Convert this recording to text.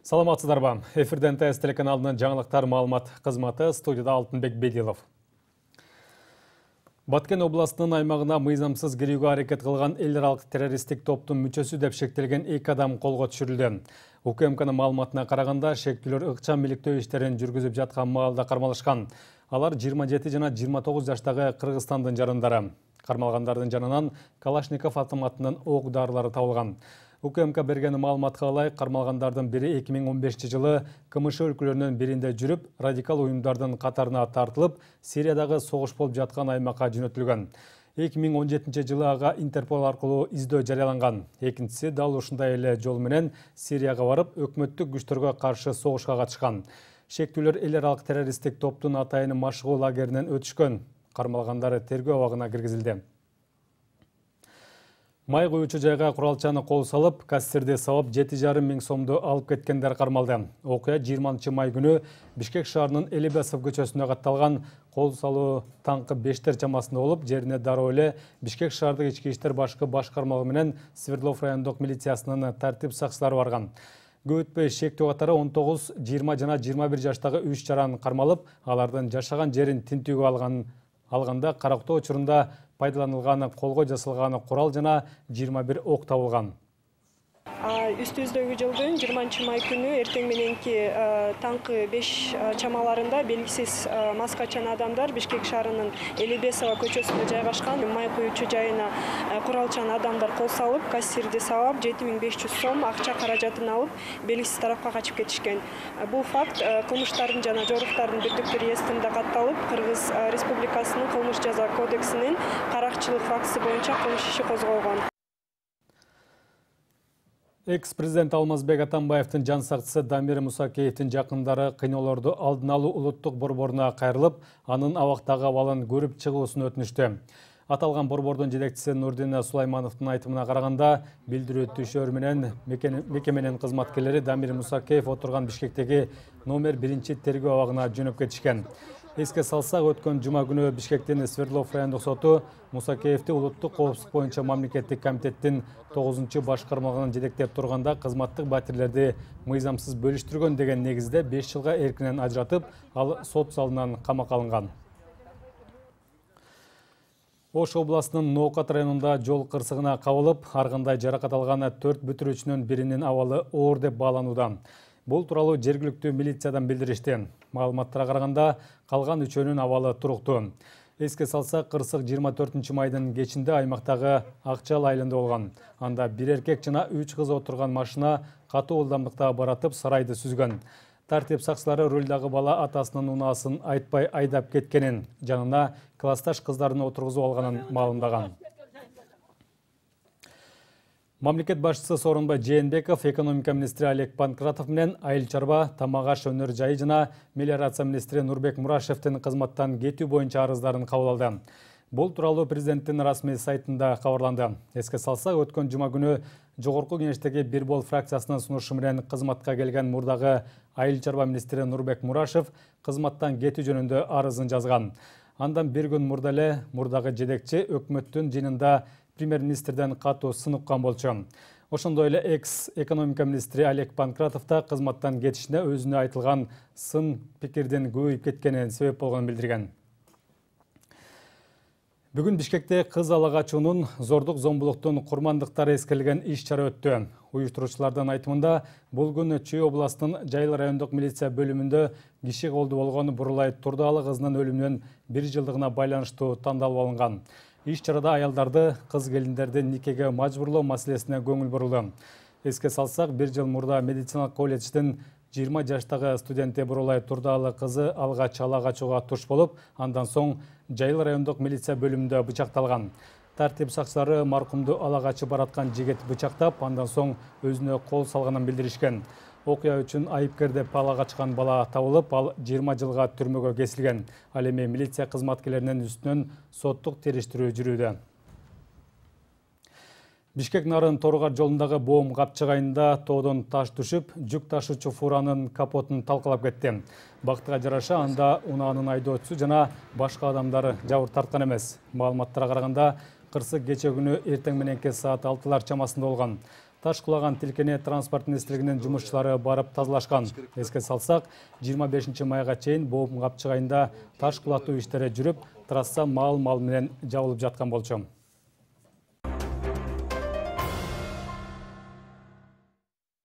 Саламатсыздарбы? Эфирден ТС телеканалынын жаңылыктар маалымат кызматы, студияда Алтынбек Бедилов. Баткен областынын аймагына мыйзамсыз кирүүгө аракет кылган эл аралык террористтик топтун мүчөсү деп шектелген 2 адам колго түшүрүлдү. УКМКнын маалыматына караганда, шектүүлөр ыкчам иликтөө иштерин жүргүзүп жаткан маалда кармалышкан. Алар 27 жана 29 жаштагы Кыргызстандын жарандары. Кармалгандардын жанынан Калашников автоматынын ок дарылары табылган. УКМК берген маалыматка ылайык, кармалгандардын бири 2015 жылы КМШ өлкөлөрүнүн биринде жүрүп, радикал уюмдардын катарына тартылып, Сириядагы согуш болуп жаткан аймакка жөнөтүлгөн. 2017 жылы ага Интерпол аркылуу издөө жарыяланган. Экинчиси дал ушундай эле жол менен Сирияга барып, өкмөттүк күчтөргө каршы согушка катышкан. Шектүүлөр эл аралык террористтик топтун атайын машыгуу лагеринен өтүшкөн. Кармалгандары тергөө абагына киргизилди. Май куючу жайга куралчаны кол салып, кассирди сабап 7,5 миң сомду алып кеткендер кармалды. Окуя 20 май күнү Бишкек шаарынын Элебасов көчөсүнө катталган. Кол салуу таңкы 5-тер чамасында болуп, жерине дароо эле Бишкек шаардык ички иштер башкы башкармалыгы менен Свердлов райондук милициясынын тартип сакчылары барган. Көп өтпөй шектүү катары 19, 20 жана 21 жаштагы 3 жаран кармалып, алардын жашаган жерин тинтүүгө алганда карактоо учурунда пайдаланылган колго жасалган курал жана 21 ок табылган. Үстүбүздөгү жылдын 20 май күнү эртең мененки таңкы 5 чамаларында белгисиз маскачан адамдар Бишкек шаарынын Элебесова көчөсүндө жайгашкан май куючу жайына куралчан адамдар кол салып, кассирди сабап 7500 сом акча каражатын алып, белгисиз тарапка качып кетишкен. Бул факт кылмыштардын жана жоруктардын бирдиктүү реестринде катталып, Кыргыз Республикасынын кылмыш жаза кодексинин каракчылык фактысы боюнча кылмыш иши козголгон. Экс-президент Алмазбек Атамбаевдин жан сакчысы Дамир Мусакеевдин жакындары кыйноолорду алдын алуу улуттук борборуна кайрылып, анын абактагы абалын көрүп чыгуусун өтүнүштү. Аталган борбордун жетекчиси Нурдин Сулаймановдун айтымына караганда, билдирүү түшөр менен мекеменин кызматкерлери Дамир Мусакеев отурган Бишкектеги номер 1 тергөө абагына жөнөп кетишкен. Эске салсак, өткөн жума күнү Бишкектин Свердлов райондук соту Мусакеевди улуттук коопсуздук боюнча мамлекеттик комитеттин 9 башкармалыгын жетектеп турганда кызматтык батирлерди мыйзамсыз бөлүштүргөн деген негизде 5 жылга эркинен ажыратып, ал сот залынан камакка алынган. Ош областынын Ноокат районунда жол кырсыгына кабылып, ар кандай жаракат алган 4 бүтүрүүчүнүн биринин абалы оор деп бааланууда. Бул тууралуу жергиликтүү милициядан билдиришти. Маалыматтарга караганда, калган 3-өнүн абалы туруктуу. Эске салсак, кырсык 24 майдын кечинде аймактагы Акчал айылында болгон. Анда бир эркек жана 3 кыз отурган машина катуу ылдамдыкта баратып сарайды сүзгөн. Тартип сакчылары рулдагы бала атасынын унаасын айтпай айдап кеткенин, жанына классташ кыздарын отургузуп алганын маалымдаган. Мамлекет башчысы Сооронбай Жээнбеков экономика министри Олег Панкратов менен айыл чарба, тамак аш өнөр жайы жана мелиорация министри Нурбек Мурашевдин кызматтан кетүү боюнча арыздарын кабыл алды. Бул тууралуу президенттин расмий сайтында кабарланды. Эске салсак, өткөн жума күнү жогорку кеңештеги Бир Бол фракциясынын сунушу менен кызматка келген мурдагы айыл чарба министри Нурбек Мурашев кызматтан кетүү жөнүндө арызын жазган. Андан бир күн мурда эле мурдагы жетекчи өкмөттүн жыйынында премьер-министрден катуу сын уккан болчу. Ошондой эле экс-экономика министри Олег Панкратов да кызматтан кетишине өзүнө айтылган сын пикирдин көбөйүп кеткенин себеп болгонун билдирген. Бүгүн Бишкекте кыз ала качуунун, зордук зомбулуктун курмандыктары эскерилген иш-чара өттү. Уюштуруучулардын айтымында, бул күн Чүй областынын Жайыл райондук милиция бөлүмүндө киши колду болгон Бурулай Турдаалы кызынын өлүмүнүн 1 жылдыгына байланыштуу тандалып алынган. Иш-чарада аялдарды, кыз келиндерди никеге мажбурлоо маселесине көңүл бурулду. Эске салсак, 1 жыл мурда медициналык колледждин 20 жаштагы студенти Бурулай Турдаалы кызы алгач ала качууга туш болуп, андан соң Жайыл райондук милиция бөлүмүндө бычакталган. Тартип сакчылары маркумду ала качып бараткан жигит бычактап, андан соң өзүнө кол салганын билдиришкен. Окуя үчүн айыпкер деп ала качкан бала табылып, ал 20 жылга түрмөгө кесилген. Ал эми милиция кызматкерлеринин үстүнөн соттук териштирүү жүрүүдө. Бишкек Нарын Торгар жолундагы боом капчыгайында тоодон таш түшүп, жүк ташуучу фуранын капотун талкалап кетти. Бактыга жараша анда унаанын айдоочусу жана башка адамдар жабыр тарткан эмес. Маалыматтарга караганда, кырсык кече күнү эртең мененки саат 6-лар чамасында болгон. таш кулаган тилкене транспорт министрлигинин жумушчулары барып тазалашкан. Эске салсак, 25 майга чейин Боом Капчыгайында таш кулатуу иштери жүрүп, трасса мал менен жабылып жаткан болчу.